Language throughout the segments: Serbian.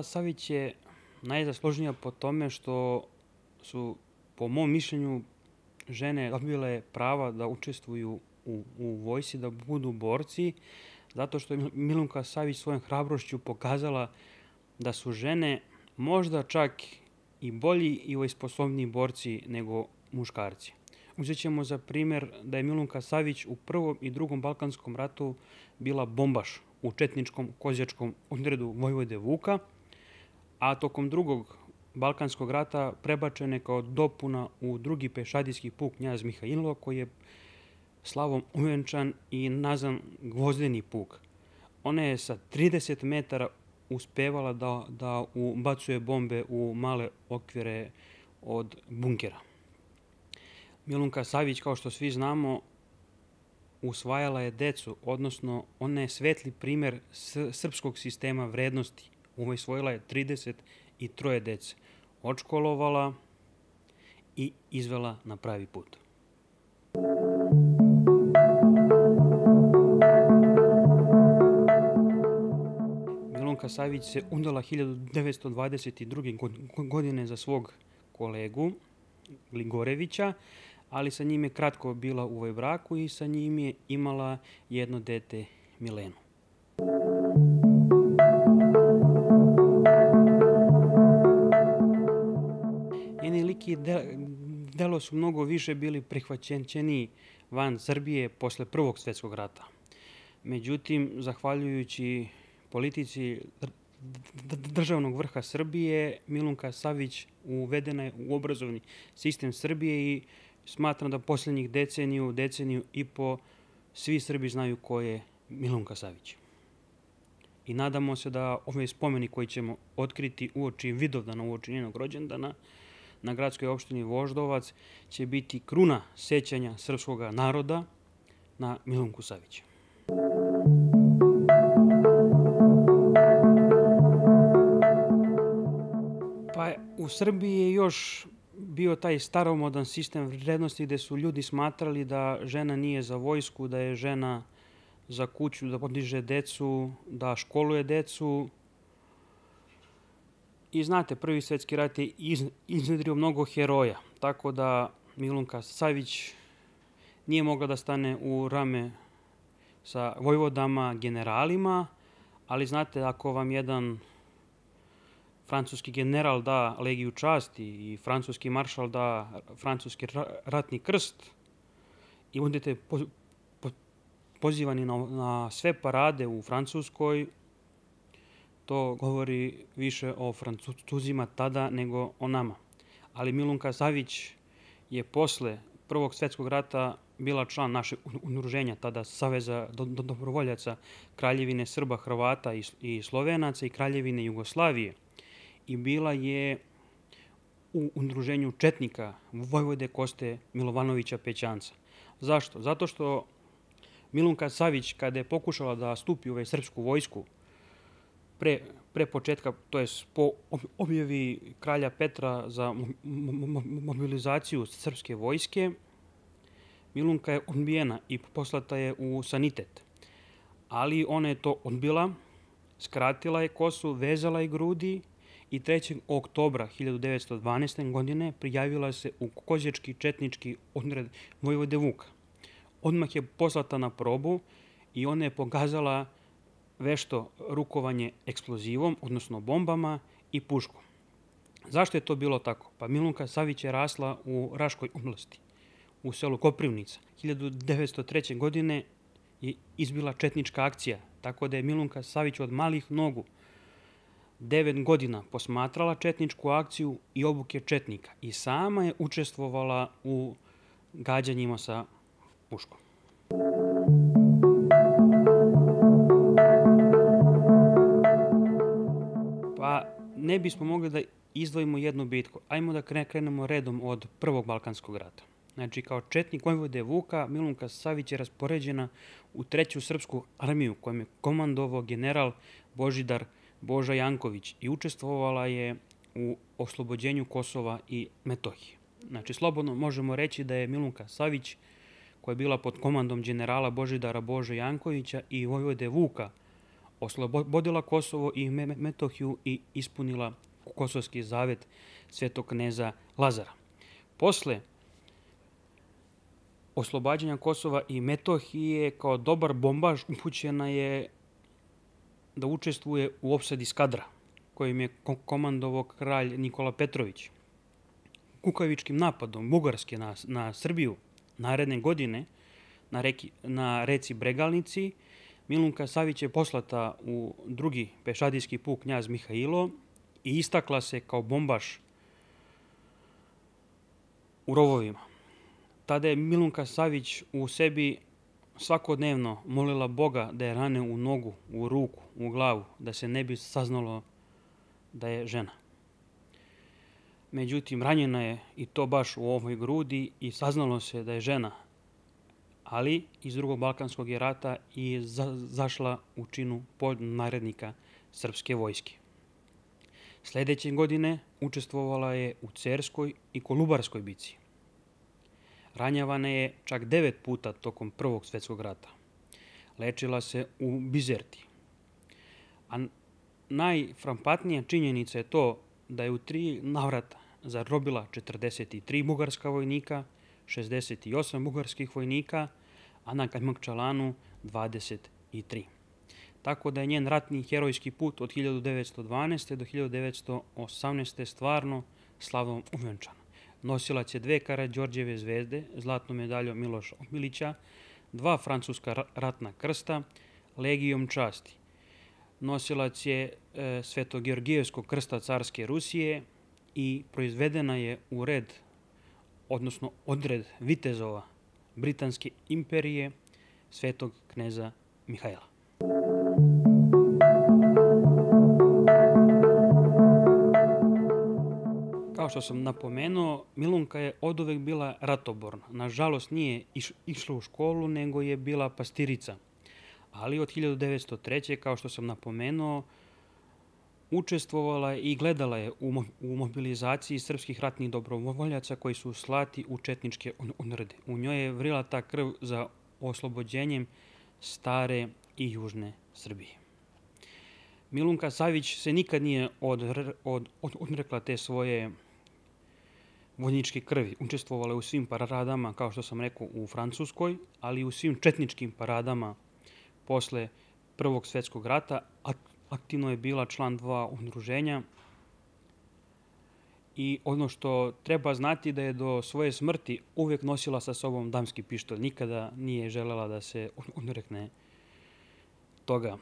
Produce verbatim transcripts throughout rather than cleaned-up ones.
Savić je najzaslužnija po tome što su, po mom mišljenju, žene dobile prava da učestvuju u, u vojsci, da budu borci, zato što je Milunka Savić svojom hrabrošću pokazala da su žene možda čak i bolji i sposobniji borci nego muškarci. Uzet ćemo za primjer da je Milunka Savić u Prvom i Drugom Balkanskom ratu bila bombaš u četničkom kozjačkom odredu Vojvode Vuka, a tokom Drugog Balkanskog rata prebačena je kao dopuna u Drugi pešadijski puk Knjaz Mihailo, koji je slavom uvenčan i nazvan Gvozdeni puk. Ona je sa trideset metara uspevala da, da ubacuje bombe u male okvire od bunkera. Milunka Savić, kao što svi znamo, usvajala je decu, odnosno ona je svetli primjer srpskog sistema vrednosti. Usvojila je trideset troje dece, odškolovala i izvela na pravi put. Milunka Savić se udala hiljadu devetsto dvadeset druge. godine za svog kolegu Gligorevića, ali sa njim je kratko bila u ovoj braku i sa njim je imala jedno dete, Milenu. Njeni lik i delo su mnogo više bili prihvaćeni van Srbije posle Prvog svjetskog rata. Međutim, zahvaljujući politici državnog vrha Srbije, Milunka Savić uvedena je u obrazovni sistem Srbije i smatram da posljednjih deceniju, deceniju i po svi Srbi znaju ko je Milunka Savić. I nadamo se da ovaj spomenik koji ćemo otkriti uoči Vidovdana, uoči njenog rođendana, na gradskoj opštini Voždovac, će biti kruna sećanja srpskog naroda na Milunku Savić. Pa u Srbiji je još bio taj staromodan sistem vrednosti gde su ljudi smatrali da žena nije za vojsku, da je žena za kuću, da podiže decu, da školuje decu. I znate, Prvi svjetski rat je iznedrio mnogo heroja, tako da Milunka Savić nije mogla da stane u rame sa vojvodama, generalima, ali znate, ako vam jedan francuski general da Legiju časti i francuski maršal da francuski ratni krst i budete pozivani na sve parade u Francuskoj, to govori više o Francuzima tada nego o nama. Ali Milunka Savić je posle Prvog svjetskog rata bila član našeg udruženja, tada Saveza dobrovoljaca Kraljevine Srba, Hrvata i Slovenaca i Kraljevine Jugoslavije. I bila je u udruženju četnika Vojvode Koste Milovanovića Pećanca. Zašto? Zato što Milunka Savić, kada je pokušala da stupi u srpsku vojsku, pre, pre početka, to je po objavi kralja Petra za mobilizaciju srpske vojske, Milunka je odbijena i poslata je u sanitet. Ali ona je to odbila, skratila je kosu, vezala je grudi i trećeg oktobra hiljadu devetsto dvanaeste. godine prijavila se u kozjački četnički odred Vojvode Vuka. Odmah je poslata na probu i ona je pokazala vešto rukovanje eksplozivom, odnosno bombama i puškom. Zašto je to bilo tako? Pa Milunka Savić je rasla u Raškoj oblasti, u selu Koprivnica. hiljadu devetsto treće. godine je izbila četnička akcija, tako da je Milunka Savić od malih nogu devet godina posmatrala četničku akciju i obuke četnika i sama je učestvovala u gađanjima sa puškom. Pa ne bismo mogli da izdvojimo jednu bitku. Ajmo da krenemo redom od Prvog Balkanskog rata. Znači, kao četnik Vojvode Vuka, Milunka Savić je raspoređena u treću srpsku armiju kojom je komandovao general Božidar Boža Janković i učestvovala je u oslobođenju Kosova i Metohije. Znači, slobodno možemo reći da je Milunka Savić, koja je bila pod komandom generala Božidara Bože Jankovića i Vojvode Vuka, oslobodila Kosovo i Metohiju i ispunila kosovski zavet svetog kneza Lazara. Posle oslobađanja Kosova i Metohije kao dobar bombaš upućena je da učestvuje u opsadi Skadra, kojim je komandovao kralj Nikola Petrović. Kukavičkim napadom Bugarske na, na Srbiju naredne godine na, reki, na reci Bregalnici Milunka Savić je poslata u drugi pešadijski puk knjaz Mihailo i istakla se kao bombaš u rovovima. Tada je Milunka Savić u sebi svakodnevno molila Boga da je rane u nogu, u ruku, u glavu, da se ne bi saznalo da je žena. Međutim, ranjena je i to baš u ovoj grudi i saznalo se da je žena, ali iz drugog Balkanskog je rata i za, zašla u činu podnarednika srpske vojske. Sljedeće godine učestvovala je u Cerskoj i Kolubarskoj bici. Ranjavana je čak devet puta tokom Prvog svjetskog rata. Lečila se u Bizerti. A najframpantnija činjenica je to da je u tri navrata zarobila četrdeset tri bugarska vojnika, šezdeset osam bugarskih vojnika, a na Kajmakčalanu dvadeset tri. Tako da je njen ratni herojski put od hiljadu devetsto dvanaeste. do hiljadu devetsto osamnaeste. stvarno slavno uvenčan. Nosilac je dve Karađorđeve zvezde, zlatnu medalju Miloša Omilića, dva francuska ratna krsta, legijom časti. Nosilac je e, Sveto-Georgijevskog krsta carske Rusije i proizvedena je u red, odnosno odred vitezova Britanske imperije svetog kneza Mihajla. Kao što sam napomenuo, Milunka je oduvek bila ratoborna. Nažalost, nije iš, išla u školu, nego je bila pastirica. Ali od hiljadu devetsto treće. kao što sam napomenuo, učestvovala je i gledala je u, mo, u mobilizaciji srpskih ratnih dobrovoljaca koji su slati u četničke odrede. U njoj je vrila ta krv za oslobođenjem stare i južne Srbije. Milunka Savić se nikad nije od, od, od, odrekla te svoje vojničke krvi. Učestvovala je u svim paradama, kao što sam rekao, u Francuskoj, ali i u svim četničkim paradama posle Prvog svjetskog rata. Aktivno je bila član dva udruženja i ono što treba znati da je do svoje smrti uvijek nosila sa sobom damski pištolj. Nikada nije želela da se odrekne toga.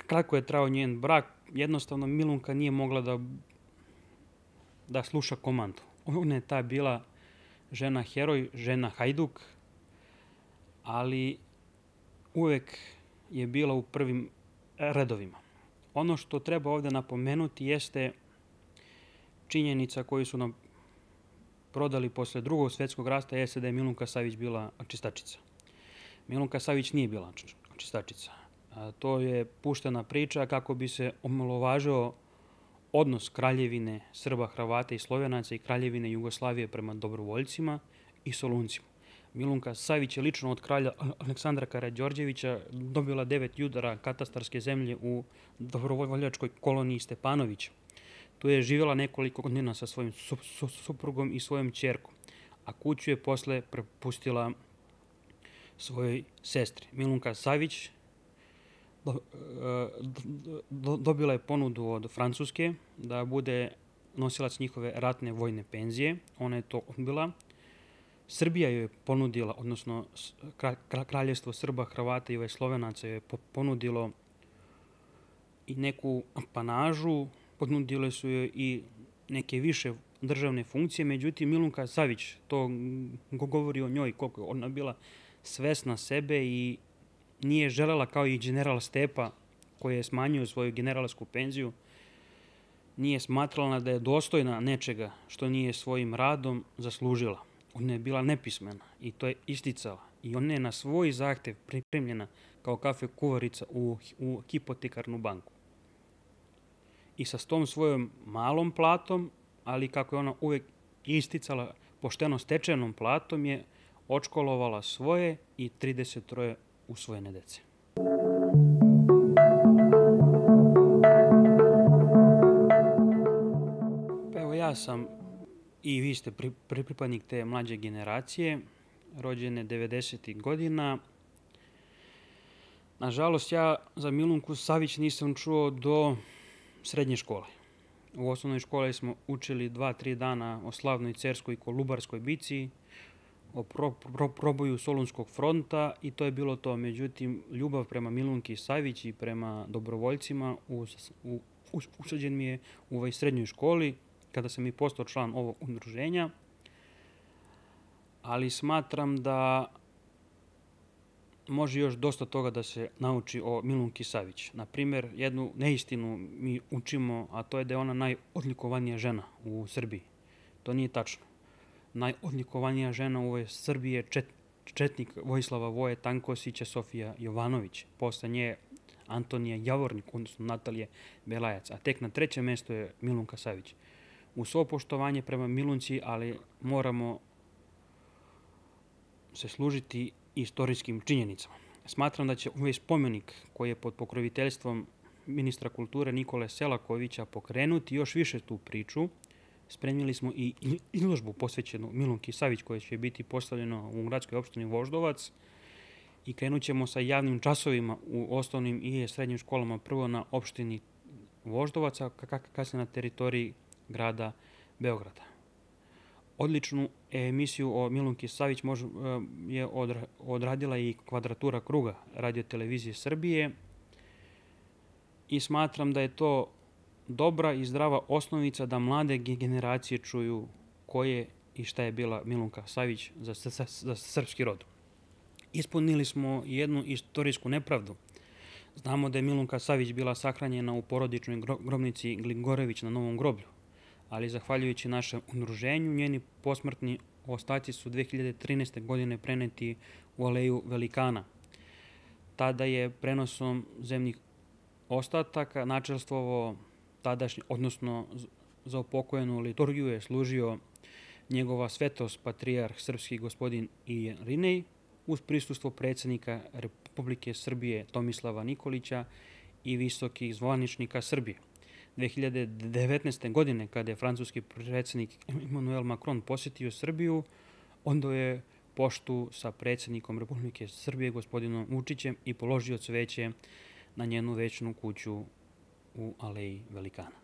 Kratko je trajao njen brak. Jednostavno Milunka nije mogla da, da sluša komandu. Ona je ta bila žena heroj, žena hajduk, ali uvijek je bila u prvim redovima. Ono što treba ovdje napomenuti jeste činjenica koju su nam prodali posle Drugog svjetskog rata, jeste da je Milunka Savić bila čistačica. Milunka Savić nije bila čistačica. A to je puštena priča kako bi se omalovažio odnos Kraljevine Srba, Hrvata i Slovenaca i Kraljevine Jugoslavije prema dobrovoljcima i Soluncima. Milunka Savić je lično od kralja Aleksandra Karađorđevića dobila devet judara katastarske zemlje u dobrovoljačkoj koloniji Stepanovića. Tu je živjela nekoliko godina sa svojim su, su, suprugom i svojom ćerkom, a kuću je posle prepustila svojoj sestri. Milunka Savić do, do, dobila je ponudu od Francuske da bude nosilac njihove ratne vojne penzije. Ona je to odbila. Srbija joj je ponudila, odnosno Kraljevstvo Srba, Hrvata i Slovenaca joj je ponudilo i neku apanažu, ponudile su joj i neke više državne funkcije, međutim Milunka Savić, to govori o njoj koliko je ona bila svesna sebe i nije želela kao i general Stepa koji je smanjio svoju generalsku penziju, nije smatrala da je dostojna nečega što nije svojim radom zaslužila. Ona je bila nepismena i to je isticala. I ona je na svoj zahtev pripremljena kao kafe kuvarica u, u hipotekarnu banku. I sa tom svojom malom platom, ali kako je ona uvijek isticala pošteno stečenom platom, je odškolovala svoje i trideset troje usvojene dece. ja sam i vi ste pri, pri, pripadnik te mlađe generacije, rođene devedesetih godina. Nažalost, ja za Milunku Savić nisam čuo do srednje škole. U osnovnoj školi smo učili dva, tri dana o slavnoj Cerskoj i Kolubarskoj bici, o pro, pro, proboju Solunskog fronta i to je bilo to. Međutim, ljubav prema Milunki Savić i prema dobrovoljcima us, u, us, usađen mi je u ovoj srednjoj školi kada sam i postao član ovog udruženja. Ali smatram da može još dosta toga da se nauči o Milunki Savić. Na primjer, jednu neistinu mi učimo, a to je da je ona najodlikovanija žena u Srbiji. To nije tačno. Najodlikovanija žena u ovoj Srbiji je čet, četnik Vojislava Voje Tankosića Sofija Jovanović. Posle nje Antonija Javornik, odnosno Natalije Belajac. A tek na trećem mjestu je Milunka Savić. Uz svo poštovanje prema Milunci, ali moramo se služiti istorijskim činjenicama. Smatram da će ovaj spomenik koji je pod pokroviteljstvom ministra kulture Nikole Selakovića pokrenuti još više tu priču. Spremili smo i izložbu posvećenu Milunki Savić koja će biti postavljena u gradskoj opštini Voždovac i krenut ćemo sa javnim časovima u osnovnim i srednjim školama, prvo na opštini Voždovaca, kasnije na teritoriji grada Beograda. Odličnu emisiju o Milunki Savić je odradila i Kvadratura kruga Radio-televizije Srbije i smatram da je to dobra i zdrava osnovica da mlade generacije čuju ko je i šta je bila Milunka Savić za, za, za srpski rod. Ispunili smo jednu istorijsku nepravdu. Znamo da je Milunka Savić bila sahranjena u porodičnoj grobnici Gligorević na Novom groblju, ali zahvaljujući našem udruženju, njeni posmrtni ostaci su dve hiljade trinaeste. godine preneti u Aleju Velikana. Tada je prenosom zemnih ostataka načelstvovo tadašnji, odnosno za upokojenu liturgiju je služio njegova svetost patrijarh srpski gospodin Irinej uz prisustvo predsjednika Republike Srbije Tomislava Nikolića i visokih zvaničnika Srbije. dve hiljade devetnaeste. godine, kada je francuski predsjednik Emmanuel Macron posjetio Srbiju, onda je poštu sa predsjednikom Republike Srbije, gospodinom Vučićem, i položio cveće na njenu večnu kuću u Aleji Velikana.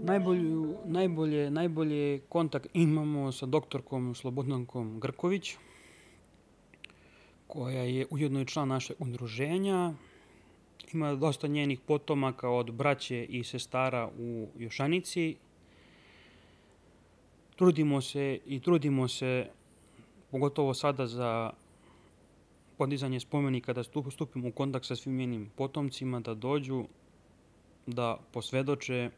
Najbolju, najbolje, najbolje kontakt imamo sa doktorkom Slobodankom Grković, koja je ujedno i član našeg udruženja. Ima dosta njenih potomaka od braće i sestara u Jošanici. Trudimo se i trudimo se, pogotovo sada za podizanje spomenika, da stupimo u kontakt sa svim njenim potomcima, da dođu, da posvedoče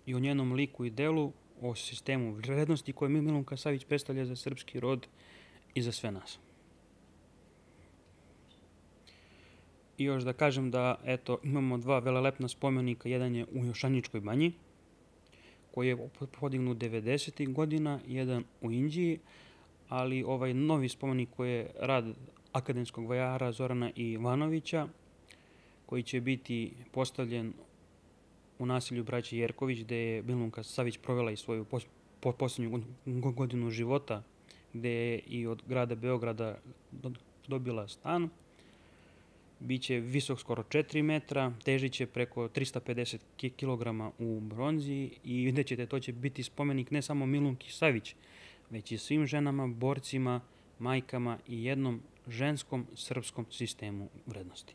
i o njenom liku i delu, o sistemu vrednosti koje Milunka Savić predstavlja za srpski rod i za sve nas. I još da kažem da eto, imamo dva velelepna spomenika. Jedan je u Jošaničkoj banji, koji je podignut devedesetih godina, jedan u Inđiji, ali ovaj novi spomenik koji je rad akademskog vajara Zorana Ivanovića, koji će biti postavljen u naselju braće Jerković, gde je Milunka Savić provela i svoju posljednju godinu života, gde je i od grada Beograda dobila stan. Biće visok skoro četiri metra, težit će preko trista pedeset kilograma u bronzi i vidjet ćete, to će biti spomenik ne samo Milunki Savić, već i svim ženama, borcima, majkama i jednom ženskom srpskom sistemu vrednosti.